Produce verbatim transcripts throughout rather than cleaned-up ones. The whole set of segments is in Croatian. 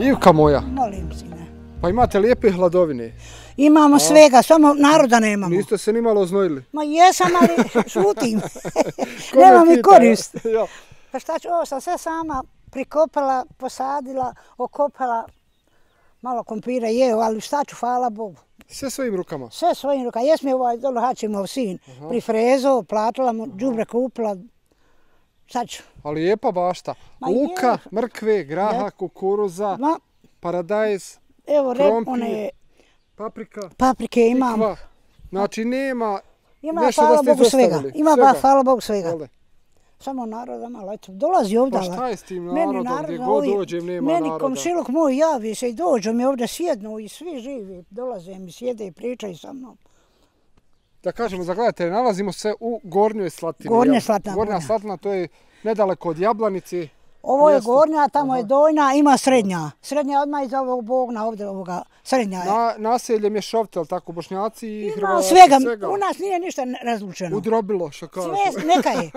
Ivka moja. Molim, sine. Pa imate lijepe hladovine. Imamo svega, samo naroda nemamo. Niste se ni malo oznojili? Ma jesam, ali šutim. Nema mi korist. Pa šta ću, ovo sam sve sama prikopala, posadila, okopala. Malo kompira jeo, ali šta ću, hvala Bogu. Sve svojim rukama? Sve svojim rukama. Jes mi ovaj dolo Hačimov sin prifrezo, platila mu, đubre kupila. Šta ću? A lijepa bašta. Luka, mrkve, graha, kukuruza, paradajz, krompir, paprika, paprike imam. Znači nema nešto da ste izostavili. Ima ba, hvala Bogu svega. Samo naroda malo, eto, dolazi ovdje. Pa šta je s tim narodom, gdje god dođem nema naroda? Meni komšiluk moj javi se i dođu mi ovdje sjednu i svi živi dolaze mi, sjede i pričaju sa mnom. Da kažemo za gledatelje, nalazimo se u Gornjoj Slatini. Gornja Slatina. Gornja Slatina, to je nedaleko od Jablanici. Ovo je Gornja, tamo je Donja, ima Srednja. Srednja odmah iz ovog Bogna, ovdje ovoga, Srednja je. Naselje Mješovite, ali tako, Bošnjaci i Hrvati, svega. U nas nije ništa razlučeno. Udrobilo, što kažu. Sve, neka je.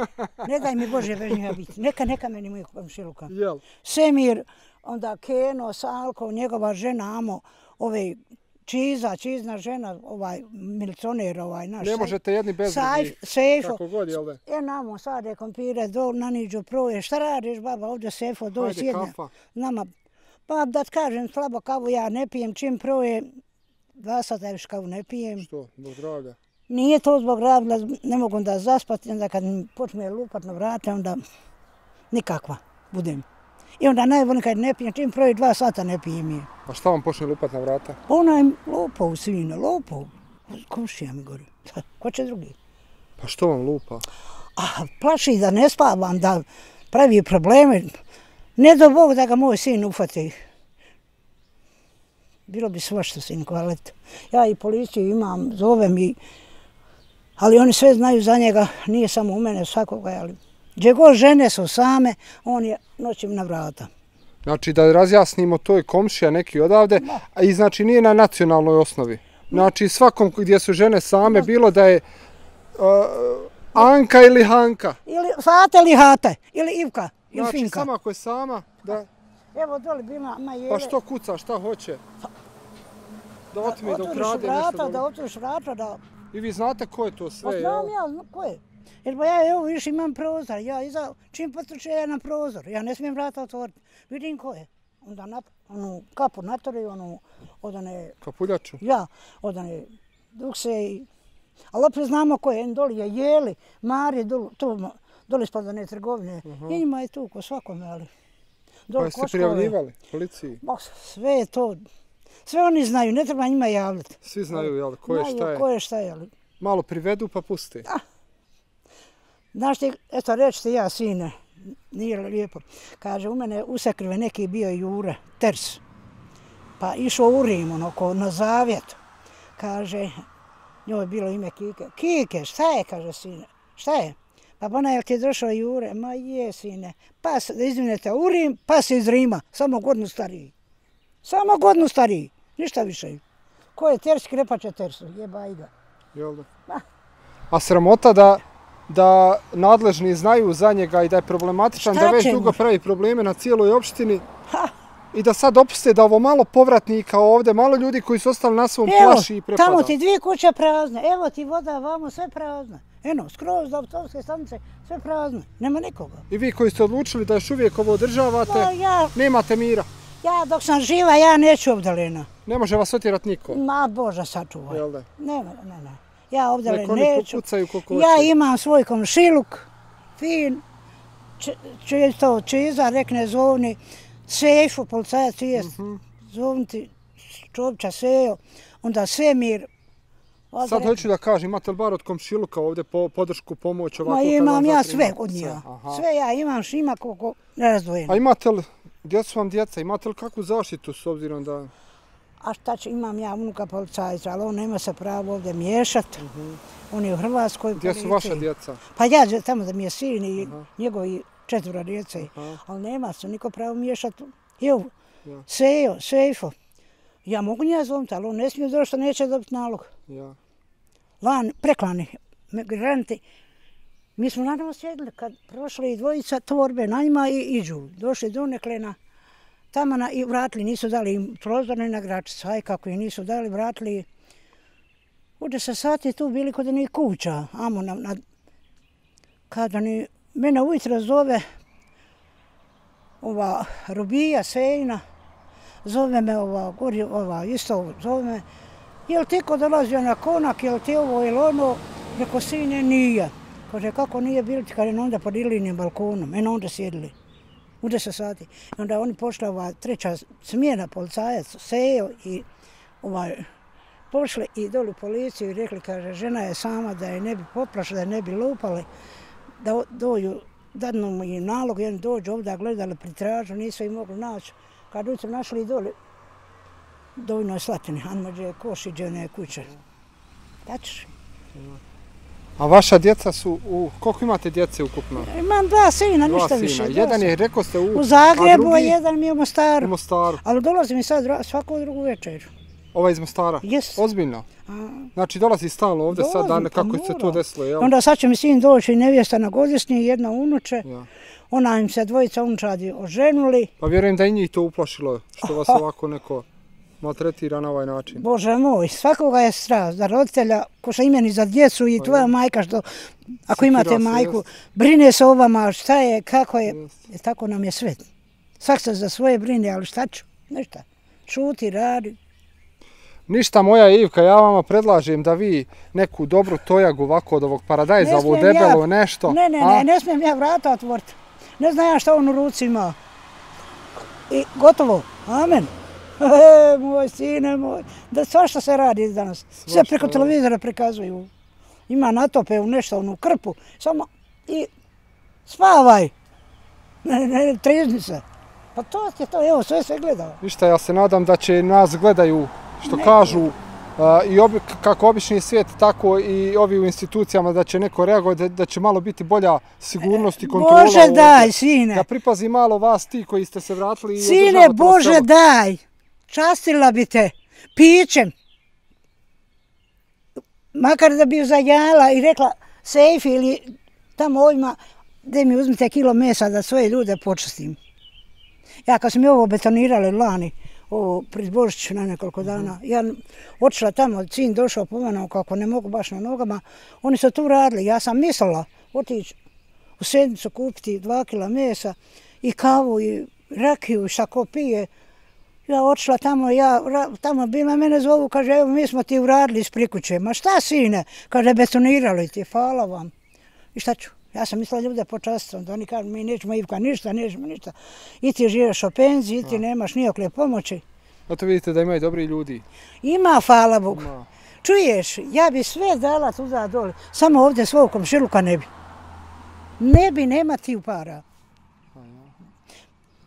Ne daj mi Bože bez njega biti. Neka, neka meni mojih komšiluka. Jel? Semir, onda Keno, Salko, njegova žena Amo, ove Čiza, Čizna žena, ovaj milicioner, ovaj naš. Ne možete jedni bez drugih. Sejfo. Kako god, jel da? E, namo sade kompire, dol, naniđu proje. Šta radiš, baba, ovdje Sejfo, doj sjedne. Hajde, kafa. Nama, pa da ti kažem, slabo kavu ja ne pijem, čim proje, dva sata još kavu ne pijem. Što, zbog zdravlja? Nije to zbog zdravlja, ne mogu da zaspati, onda kad mi počne lupat na vrate, onda nikakva budem. I onda najbolje kad ne pijem, čim proje dva sata ne pijem je. A šta vam počne lupat na vrata? Ona je lupao, svina, lupao. Komšija mi gori. Ko će drugi? Pa što vam lupa? A, plaši da ne spavam, da pravi probleme. Ne do Bog da ga moj sin ufati. Bilo bi svašta, sinko, ali ja i policiju imam, zovem i... Ali oni sve znaju za njega, nije samo u mene, svakoga, ali... Gdje god žene su same, on je noćim na vrata. Znači da razjasnimo, to je komšija neki odavde, a i znači nije na nacionalnoj osnovi. Znači svakom gdje su žene same, bilo da je Anka ili Hanka. Ili Fate ili Hate, ili Ivka, ili Finka. Znači sama ako je sama, da... Evo doli bi ima Jele. Pa što kuca, šta hoće? Da otme, da ukrade nešto. Da otvoriš vrata, da... I vi znate ko je to sve, jel? Znam ja, ko je. Jer ba ja evo više imam prozor, ja iza, čim potrče ja na prozor, ja ne smijem vrata otvoriti, vidim ko je. Onda na, onu kapu natori, onu, od one... Kapuljaču? Ja, od one dukse i... Ali opet znamo ko je, doli je Jeli, Marije, doli, doli ispod one trgovine. Uh-huh. I njima je tu ko svakome, ali... Pa jeste prijavljivali policiji? Sve je to, sve oni znaju, ne treba njima javljati. Svi znaju, jel, ko je šta je? Znaju ko je šta je, ali... Malo privedu pa pusti. Ah. Znaš ti, eto reći ti ja, sine, nije lijepo, kaže, u mene usekrve neki bio Jure, Ters, pa išao u Rim, onako, na zavjet, kaže, njoj je bilo ime Kike, Kike, šta je, kaže sine, šta je? Pa ona je ti je došao Jure, ma je sine, pas, da izvinete, u Rim, pas iz Rima, samo godinu stariji, samo godinu stariji, ništa više. Ko je Ters, krepače Tersu, jeba i ga. Jel da? A sramota da... da nadležni znaju za njega i da je problematičan, da već dugo pravi probleme na cijeloj opštini i da sad opuste da ovo malo povratnika ovdje, malo ljudi koji su ostali na svom plaši i prepada. Tamo ti dvije kuće prazne, evo ti voda, vamo sve prazne. Eno, skroz do autobuske stanice, sve prazne, nema nikoga. I vi koji ste odlučili da još uvijek ovo održavate, nemate mira? Ja dok sam živa, ja neću ovdje. Ne može vas otjerat niko? Ma Bože sačuvaj. Jel da? Ne, ne, ne. Ja ovdje neću. Nek oni popucaju koliko hoće. Ja imam svoj komšiluk, fin, to Čiza, rekne zovni, Sejfu, policajac jest, zovni ti Čovića Sejo, onda Semir. Sad hoću da kažem, imate li bar od komšiluka ovdje podršku, pomoć ovako? Ma imam ja sve od njega. Sve ja imam, ima koliko nerazdvojeno. A imate li, gdje su vam djeca, imate li kakvu zaštitu s obzirom da... A šta će, imam ja unuka policajca, ali on nema se pravo ovdje miješati. On je u Hrvatskoj policiji. Gdje su vaša djeca? Pa ja tamo da mi je sin i njegovi četvora djece. Ali nema se niko pravo miješati. Evo, Sejo, Sejfo. Ja mogu nja zoviti, ali on ne smije doći što neće dobiti nalog. Van, preklani migranti. Mi smo naravno sjedili kad prošli dvojica torbe na njima i iđu. Došli do neklena. tamo na, i vratili, nisu dali im prozor ni na Gračicu, aj kako im nisu dali, vratili. U deset sati tu bili kod njih kuća, amo na, na, kada ni, mene ujutro zove ova Rubija, Sejna, zove me ova, gori, ova, isto zove me, jel ti ko dolazio na konak, jel ti ovo ili ono, reko sine nije. Kaže, kako nije bili, kaže, onda pod ilinim balkonom, eno onda sjedili. U deset sati. I onda oni pošla ova treća smjena, policajac, Sejo i ovaj, pošli i doli u policiju i rekli, kaže, žena je sama da je ne bi poplašla, da je ne bi lupali, da dođu, dadnu mu i nalog, jedan dođu ovdje, gledali pritražu, nisu ih mogli naći. Kad ujutro našli i doli, dovoljno je Slatini, Anmađe, Košiđe, one kuće. Daćeš? A vaša djeca su, u, koliko imate djece ukupno? Imam dva sina, ništa dva više. Sina. Jedan je, rekao ste, u, u Zagrebu, a drugi? Jedan mi je u Mostaru. U Mostaru. Ali dolazi mi sad svaku drugu večer. Ovaj iz Mostara? Yes. Ozbiljno? A, znači dolazi stalno ovdje dolazi, sad, dane, kako pa se to desilo, jel? Onda sad će mi sin doći i nevjesta na godišnji, jedna unuče. Ja. Ona im se dvojica unučadi oženuli. Pa vjerujem da i njih to uplašilo, što vas ovako neko maltretira na ovaj način. Bože moj, svakoga je strast, za roditelja, ko što imeni za djecu i tvoja majka, što ako imate majku, brine se o vama, šta je, kako je, e, tako nam je svet. Svak se za svoje brine, ali šta ću, ništa, šuti, radi. Ništa, moja Ivka, ja vama predlažem da vi neku dobru tojagu ovako od ovog paradajza, ovo debelo ja, nešto. Ne, ne, ne, ne smijem ja vrata otvoriti. Ne znam ja šta on u ruci ima. I gotovo, amen. E, moj sine moj, da svašta se radi danas. Sve preko televizora prikazuju. Ima natope u nešto, onu krpu, samo i spavaj. Ne, ne, trizni se. Pa to je to, evo, sve se gleda. Ništa, ja se nadam da će nas gledaju, što neko kažu, uh, i obi, kako obični svijet, tako i ovi u institucijama, da će neko reagovati, da, da će malo biti bolja sigurnost i kontrola. Bože daj, sine. Da pripazi malo vas ti koji ste se vratili i sine, Bože daj. Častila bi te pićem, makar da bi ju zajala i rekla sejfi ili tamo ovima, gdje mi uzmite kilo mesa da svoje ljude počastim. Ja kad sam mi ovo betonirali lani, ovo pred Božić na nekoliko dana, ja otišla tamo, sin došao pomenuo kako ne mogu baš na nogama, oni su tu radili, ja sam mislila otići u sedmicu kupiti dva kila mesa i kavu i rakiju i šta ko pije. Ja otišla tamo, ja, tamo bila mene zovu, kaže, evo mi smo ti uradili iz prikuće. Ma šta sine? Kaže, betonirali ti, hvala vam. I šta ću? Ja sam mislila ljude počastiti, da oni kažu, mi nećemo Ivka ništa, nećemo ništa. I ti živiš o penziji, i ti nemaš nijokle pomoći. Zato vidite da imaju dobri ljudi. Ima, hvala Bogu. Ima. Čuješ, ja bi sve dala tuda dole, samo ovdje svog komšiluka ne bi. Ne bi, nema ti para.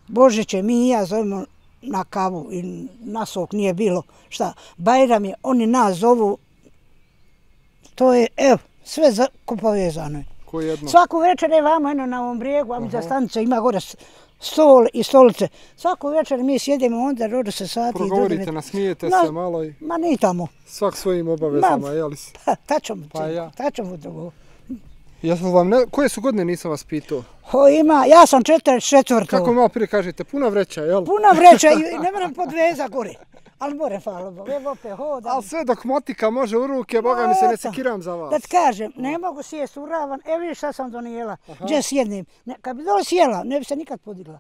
Božiće, mi i ja zovemo na kavu i na sok nije bilo šta. Bajram je, oni nas zovu, to je, evo, sve povezano je. Ko jedno? Svaku večer je vamo, eno na ovom brijegu, a mi za stanica ima gore stol i stolice. Svaku večer mi sjedimo, onda rodu se sati. Progovorite, nasmijete se malo i... Ma ni tamo. Svak svojim obavezama, jeli se? Pa, tačom, pa ja. tačom to. Jesam vam, ne, koje su godine nisam vas pitao? O, ima, ja sam četrdeset četvrta. Kako malo prije kažete, puna vreća, jel? Puna vreća i ne moram podveza gore. Ali more, hvala Bogu, evo opet hodam. Ali sve dok motika može u ruke, Boga mi se ne sekiram za vas. Da ti kažem, ne mogu sjest u ravan, evo vidiš šta sam donijela, gdje sjednem. Kad bi dole sjela, ne bi se nikad podigla.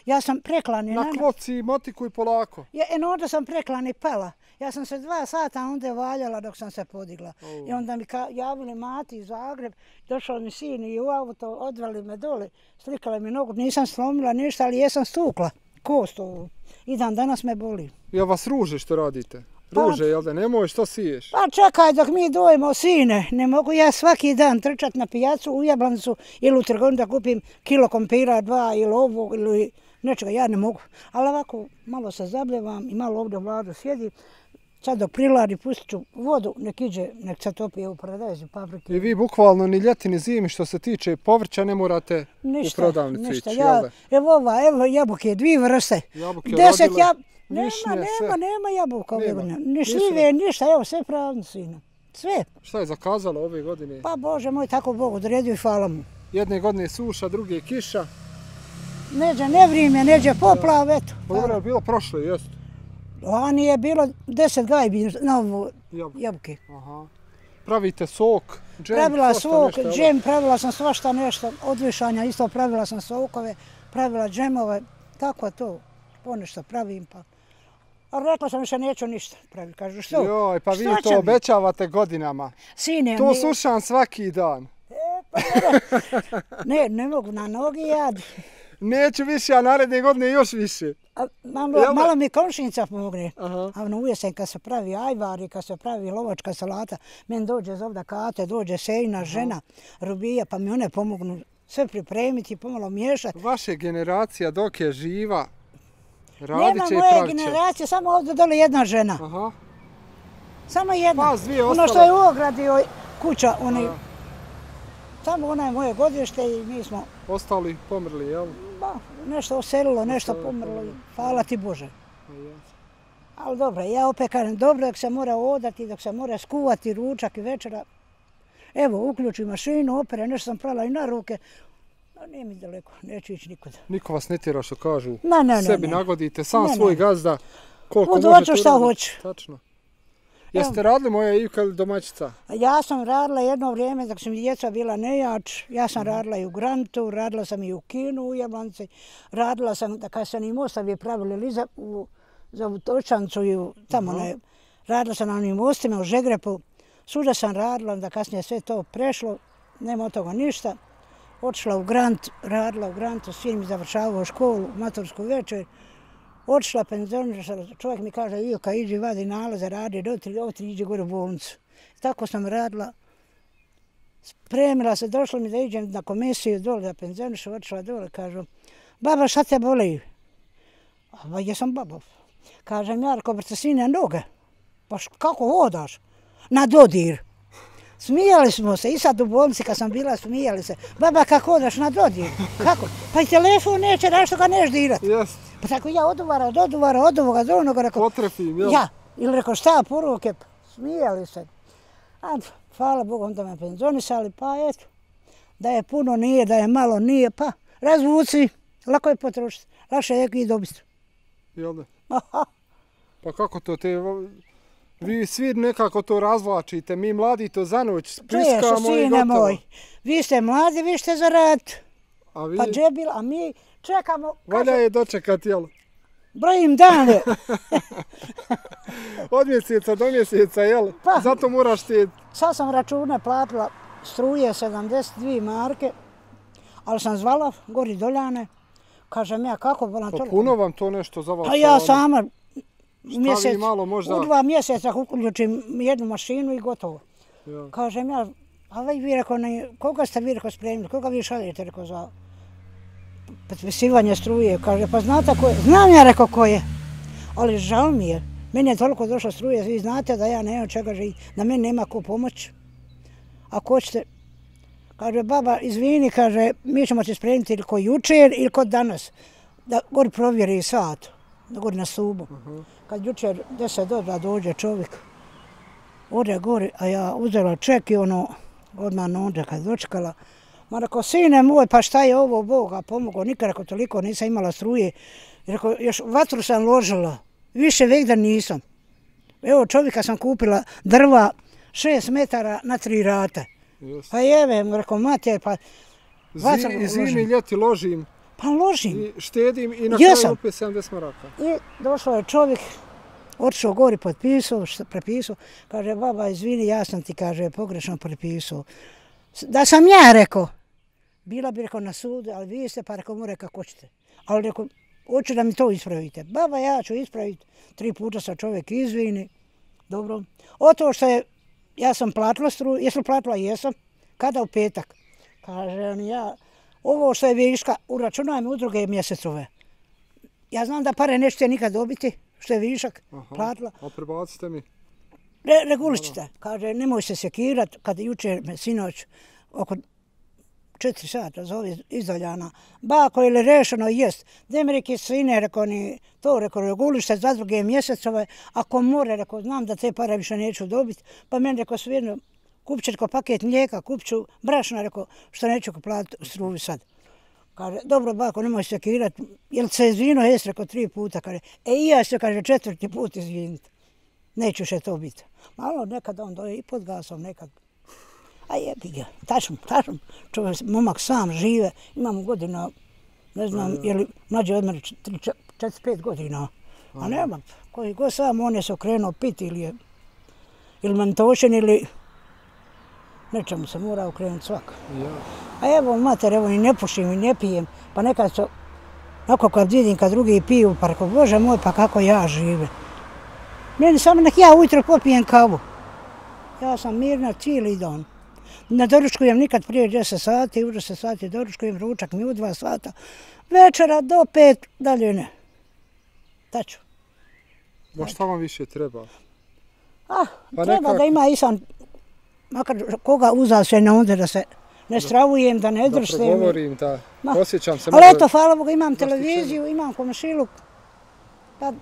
Ja sam preklani. Na kloci, motiku i polako. Ja, eno onda sam preklani pala. Ja sam se dva sata onda valjala dok sam se podigla. Oh. I onda mi javili mati iz Zagreb, došao mi sin i u auto, odveli me dole, slikala mi nogu, nisam slomila ništa, ali jesam stukla kost ovu. I dan danas me boli. Ja vas ruže što radite? Ruže, pa, jel da? Nemoj, što siješ? Pa čekaj dok mi dojemo, sine. Ne mogu ja svaki dan trčati na pijacu u Jablancu ili u trgovinu da kupim kilo kompira, dva ili ovog ili nečega. Ja ne mogu. Ali ovako malo se zabljevam i malo ovdje u vladu sjedim. Sad dok priladi pustit ću vodu, nek iđe, nek se topi u paradajzu, paprike. I vi bukvalno ni ljeti ni zimi što se tiče povrća ne morate ništa, u prodavnicu ništa. ići, ja, jel da? Evo ova, evo jabuke, dvije vrste. Jabuke Deset rodile, jab... višnje, nema, nema, sve. nema jabuka ove nema. godine. Ni šljive, ništa, evo sve pravno sino. Sve. Šta je zakazalo ove godine? Pa Bože moj, tako Bog odredio i hvala mu. Jedne godine suša, druge kiša. neđe nevrijeme, neđe poplav, eto. Dobro je bilo prošlo, jest? Lani je bilo deset gajbi na ovo jabuke. Pravite sok, džem, pravila sok, džem, pravila sam svašta nešto, od višanja isto pravila sam sokove, pravila džemove, tako to, ponešto pravim pa. Ali rekla sam više neću ništa praviti, kažu što? Joj, pa vi to obećavate godinama. Sine, to slušam svaki dan. E, pa ne, ne mogu na nogi jad. Neću više, a naredne godine još više. A, malo, malo mi komšinica pomogne. A ono u jesen kad se pravi ajvari, kad se pravi lovačka salata, meni dođe zovda kate, dođe sejna, žena, Rubija, pa mi one pomognu sve pripremiti, pomalo miješati. Vaša generacija dok je živa, radit će i Nema pravit moje će. generacije, samo ovdje dole jedna žena. Aha. Samo jedna. Vas dvije ono što je u ogradi kuća, oni... Samo ona je moje godište i mi smo... Ostali pomrli, jel? Ba, nešto oselilo, nešto pomrlo. Hvala ti Bože. Ali dobro, ja opet kažem, dobro dok se mora odati, dok se mora skuvati ručak i večera. Evo, uključi mašinu, opere, nešto sam prala i na ruke. Nije mi daleko, neću ići nikuda. Niko vas ne tjera što kažu. Ne, ne, ne. Sebi nagodite, sam svoj gazda. Koliko možete uraditi. Šta hoću. Tačno. Jeste radili moja Ivka ili domaćica? Ja sam radila jedno vrijeme dok su mi djeca bila nejač. Ja sam radila i u Grantu, radila sam i u Kinu u Jablanici. Radila sam, da kad sam im ostavi pravili Liza za Točancu i tamo ne. Radila sam na onim mostima u Žegrepu. Svuda sam radila, onda kasnije sve to prešlo. Nema od toga ništa. Otišla u Grant, radila u Grantu, sin mi završavao školu, matursku večer. Otišla penzionirala, čovjek mi kaže, Ilka, iđi vadi nalaze, radi, dotri, otri, iđi gore u bolnicu. Tako sam radila, spremila se, došlo mi da iđem na komisiju dole, da penzionišu, otišla dole, kažu, baba, šta te boli? A jesam baba. Kažem, Jarko, brate, sine, noge. Pa kako hodaš? Na dodir. Smijali smo se, i sad u bolnici kad sam bila, smijali se. Baba, kako hodaš na dodir? Kako? Pa i telefon neće, da što ga neš dirat. Jest. Pa tako ja oduvara, od oduvara, od ovoga, do onoga, rekao... Potrefim, jel? Ja, ili rekao šta, poruke, smijali se. A, hvala Bogu, onda me penzionisali, pa eto, da je puno nije, da je malo nije, pa razvuci, lako je potrošiti, lakše je i dobiti. Jel da? Pa kako to te... Vi svi nekako to razvlačite, mi mladi to za noć priskamo i gotovo. Moj, vi ste mladi, vi ste za rad. A vi? Pa džebil, a mi čekamo... Valja je dočekat, jel? Brojim dane. Od mjeseca do mjeseca, jel? Pa, zato moraš ti... Sad sam račune platila struje sedamdeset dvije marke, ali sam zvala gori Doljane. Kažem ja, kako volam pa toliko? Puno vam to nešto za vas? Pa ja sama... Mjesec, malo možda... U dva mjeseca uključim jednu mašinu i gotovo. Ja. Kažem ja, a vi rekao, koga ste vi rekao spremili, koga vi šaljete rekao za potpisivanje struje? Kaže, pa znate ko je? Znam ja rekao ko je, ali žal mi je. Meni je toliko došlo struje, vi znate da ja nemam čega živim, da meni nema ko pomoć. Ako hoćete, kaže, baba, izvini, kaže, mi ćemo ti spremiti ili ko jučer ili ko danas, da gori provjeri sat, da gori na stubu. Kad jučer deset do dva dođe čovjek, ode gori, a ja uzela ček i ono, odmah onda kad dočekala, ma rekao, sine moj, pa šta je ovo, Boga pomogao, nikad rekao toliko nisam imala struje. Rekao, još vatru sam ložila, više vek da nisam. Evo čovjeka sam kupila drva šest metara na tri rate. Just. Pa jeve, rekao, mater, pa vatru ložim. Zimi ljeti ložim. Pa ložim. I štedim i na kraju opet sedamdeset maraka. I došao je čovjek, otišao gori, potpisao, prepisao. Kaže, baba, izvini, ja sam ti, kaže, pogrešno prepisao. Da sam ja rekao, bila bi rekao na sudu, ali vi ste, pa rekao, mora kako ćete. Ali rekao, hoću da mi to ispravite. Baba, ja ću ispraviti. Tri puta sa čovjek izvini. Dobro. O to što je, ja sam platila struju, jesam platila, jesam. Kada u petak? Kaže, ja... Ovo što je viška, uračunaj mi u druge mjesecove. Ja znam da pare nećete nikad dobiti, što je višak, aha, platila. A prebacite mi? Re, regulićete. Kaže, nemoj se sekirat, kad jučer me sinoć oko četiri sata zove iz Doljana. Bako, ili rešeno, jest. Demerike sine, rekao, ni to, rekao, regulište za druge mjesecove. Ako more, rekao, znam da te pare više neću dobiti. Pa meni, rekao, svijedno, kupit ću paket mlijeka, kupit ću brašna, rekao, što neću platiti struju sad. Kaže, dobro bako, nemoj se sekirati, jel se izvino, jes rekao tri puta, kaže, e i ja se, kaže, četvrti put izviniti. Neću še to biti. Malo nekad on doje i pod gasom, nekad. A jebi ga, tačno, tačno. Čovjek, momak sam žive, imamo godina, ne znam, je li mlađe od mene četiri pet godina. A nema, koji god sam, on je se okrenuo piti ili je, ili mentošen ili nečemu se mora okrenuti svak. A evo, mater, evo, i ne pušim i ne pijem, pa nekad su, ako kad vidim kad drugi piju, pa rekao, Bože moj, pa kako ja živim. Meni samo nek ja ujutro popijem kavu. Ja sam mirna cijeli dan. Ne doručkujem nikad prije deset sati, u deset sati doručkujem, ručak mi u dva sata. Večera do pet, dalje ne. Taču. Ma šta vam više treba? Ah, pa treba nekak... da ima i sam, makar koga uzao se na onda da se ne stravujem, da ne drštem. Da progovorim, da Ma. osjećam se. Ali eto, hvala Boga, imam televiziju, imam komšiluk, pa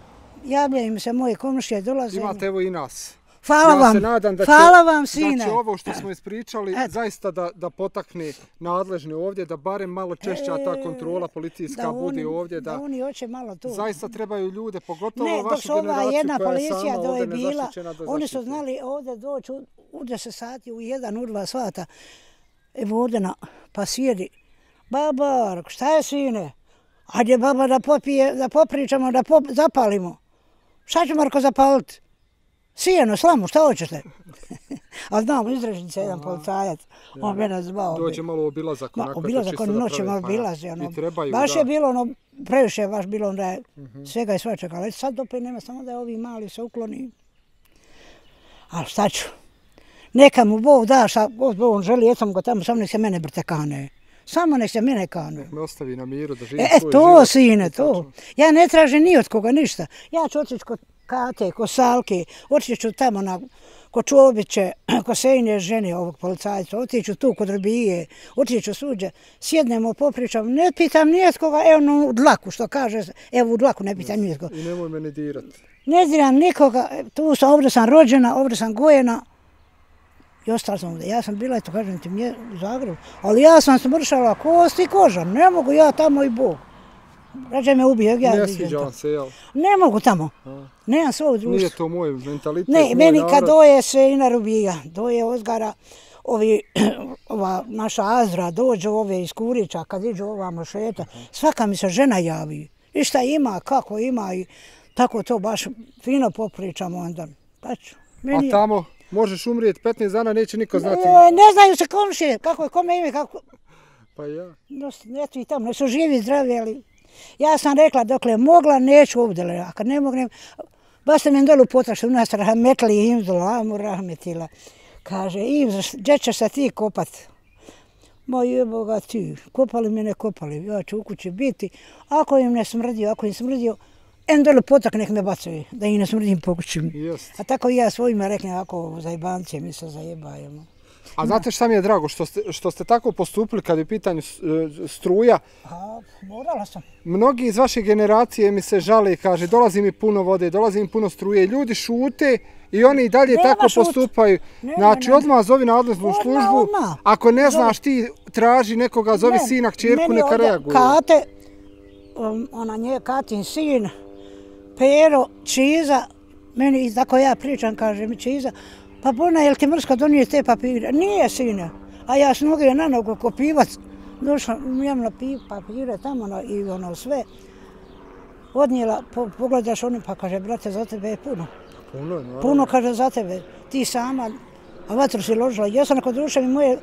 javljaju mi se moje komšije, dolaze. Imate evo i nas. Hvala ja vam, se nadam da će, hvala vam sine. Da će ovo što smo ispričali et. zaista da, da potakne nadležne ovdje, da barem malo češća ta kontrola policijska da bude oni, ovdje. Da, da oni hoće malo tu. Zaista trebaju ljude, pogotovo ne, vašu generaciju jedna koja je policija sama ovdje nezaštićena da oni su znali ovdje doći u, u deset sati, u jedan, u dva sata. Evo ovdje na, pa sjedi. Baba, šta je sine? Hajde baba da popije, da popričamo, da pop, zapalimo. Šta će Marko zapaliti? Sijeno, slamu, šta hoćete? A znam, izrežnice jedan policajac, on mene zvao. Dođe malo obilazak, onako Ma, obilazak, čisto on da noće malo pravi. obilazi. Ono. I trebaju, baš da. je bilo ono, previše je baš bilo onda je uh-huh. svega i svačega. Ali sad opet nema, samo da je ovi mali se ukloni. Ali šta ću? Neka mu Bog da, šta on želi, eto ga tamo, samo nek se mene brte kane. Samo nek se mene kane. Me ostavi na miru da živi e, svoj to, život. Sine, to. Ja ne tražim ni od koga ništa. Ja ću otići kod Kate, kod Salke, otići ću tamo na, kod Čobiće, kod Sejne žene ovog policajca, otići ću tu kod Robije, otići ću suđe, sjednemo, popričam, ne pitam ni od koga, evo no, u dlaku, što kaže, evo u dlaku ne pitam ni od koga. I nemoj me ne dirati. Ne diram nikoga, tu sam, ovdje sam rođena, ovdje sam gojena, i ostala sam ovdje. Ja sam bila, eto kažem ti, u Zagrebu, ali ja sam smršala kost i koža, ne mogu ja tamo i Bog. Rađe me ubije, ja ne sviđa vam se, jel? Ne mogu tamo, a. Nemam svog društva. Nije to moj mentalitet, ne, moj meni narod. kad doje se i na Rubija, doje Ozgara, ovi, ova naša Azra, dođu ove iz Kurića, kad iđu ovamo šeta, svaka mi se žena javi. I šta ima, kako ima i tako to baš fino popričamo onda. Pač, meni... A tamo možeš umrijeti petnaest dana, neće niko znati. Ne, ne znaju se komšije, kako je, kome ime, kako... Pa ja. No, eto i tamo, ne su živi, zdravi, ali... Ja sam rekla, dokle mogla, neću ovdje, a kad ne mognem, baš sam im dolu potrašla, u nas rahmetli imzula, amu rahmetila. Kaže, Imz, gdje ćeš se ti kopat? Ma jeboga ti, kopali me ne kopali, ja ću u kući biti. Ako im ne smrdio, ako im smrdio, en dolu potak nek me bacaju, da im ne smrdim po kući. A tako i ja svojima reknem, ako zajebancije mi se zajebajemo. A znate šta mi je drago, što ste, što ste tako postupili kad je u pitanju struja? A, morala sam. Mnogi iz vaše generacije mi se žale i kaže, dolazi mi puno vode, dolazi mi puno struje. Ljudi šute i oni i dalje nema tako šut. postupaju. Nema, znači, nema. odmah zovi nadležnu odmah, službu. Odmah. Ako ne znaš ti, traži nekoga, zovi ne, sina, kćerku, neka reaguje. Kate, um, ona nje, Katin sin, Pero, Čiza, meni, tako ja pričam, kaže mi Čiza, pa Bona, jel ti mrsko donije te papire? Nije, sine. A ja s noge na nogu ko pivac, došla, imam na papire tamo no, i ono sve. Odnijela, po, pogledaš ono, pa kaže, brate, za tebe je puno. Puno, naravno. Puno, kaže, za tebe. Ti sama, a vatru si ložila. Ja sam kod duše mi moje...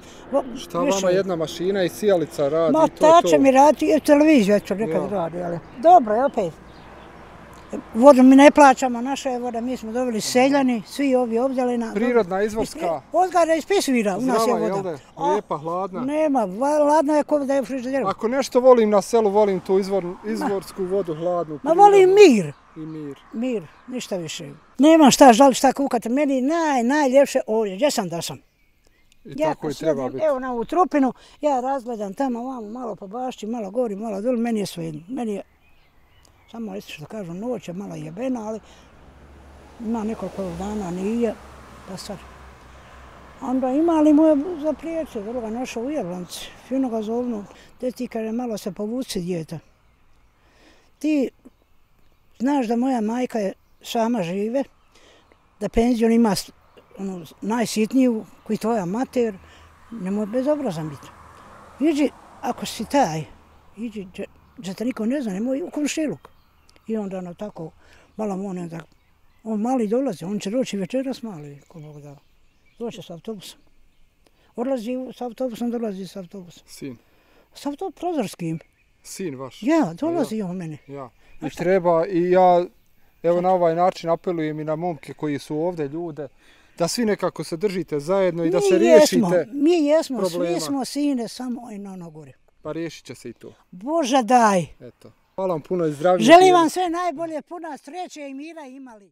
Šta više, vama jedna mašina i sijalica radi? Ma, to ta to. će mi raditi, i televiziju eto nekad ja. radi, ali dobro je opet. Vodu mi ne plaćamo, naša je voda, mi smo dobili seljani, svi ovi obdjelina. Prirodna, izvorska. Ozgara iz Pisvira, u nas je voda. Zdrava, jel da? Lijepa, hladna. Nema, hladna je ko da je u frižideru. Ako nešto volim na selu, volim tu izvor, izvorsku vodu, hladnu. Ma volim mir. I mir. Mir, ništa više. Nema šta žali, šta kukati, meni naj, najljepše ovdje, gdje sam da sam. I ja tako i treba sjedim, biti. Evo na ovu trupinu, ja razgledam tamo, vamo, malo po bašći, malo gori, malo dole, meni je sve jedno. Meni je, samo isto što kažu, noć je malo jebena, ali ima nekoliko dana nije, pa sad. Onda imali mu je za priječe, vrlo ga našao u Jerlanci. Fino ga zovnu. Gdje ti kaže, malo se povuci djeta. Ti znaš da moja majka je sama žive, da penziju ima ono, najsitniju, koji tvoja mater, nemoj bezobrazan biti. Iđi, ako si taj, iđi, da te niko ne zna, nemoj u komšiluk. I onda ono tako, malo mu on, on mali dolazi, on će doći večeras mali, ko Bog da. Doće s autobusom. Odlazi s autobusom, dolazi s autobusom. Sin? S autobusom prozorskim. Sin vaš? Ja, dolazi ja. on mene. Ja. I treba, i ja, evo na ovaj način apelujem i na momke koji su ovdje ljude, da svi nekako se držite zajedno i da se riješite problema. Mi jesmo, svi smo sine, samo i na ono gore. Pa riješit će se i to. Bože daj. Eto. Hvala vam puno i zdravlje. Želim vam sve najbolje, puno sreće i mira imali.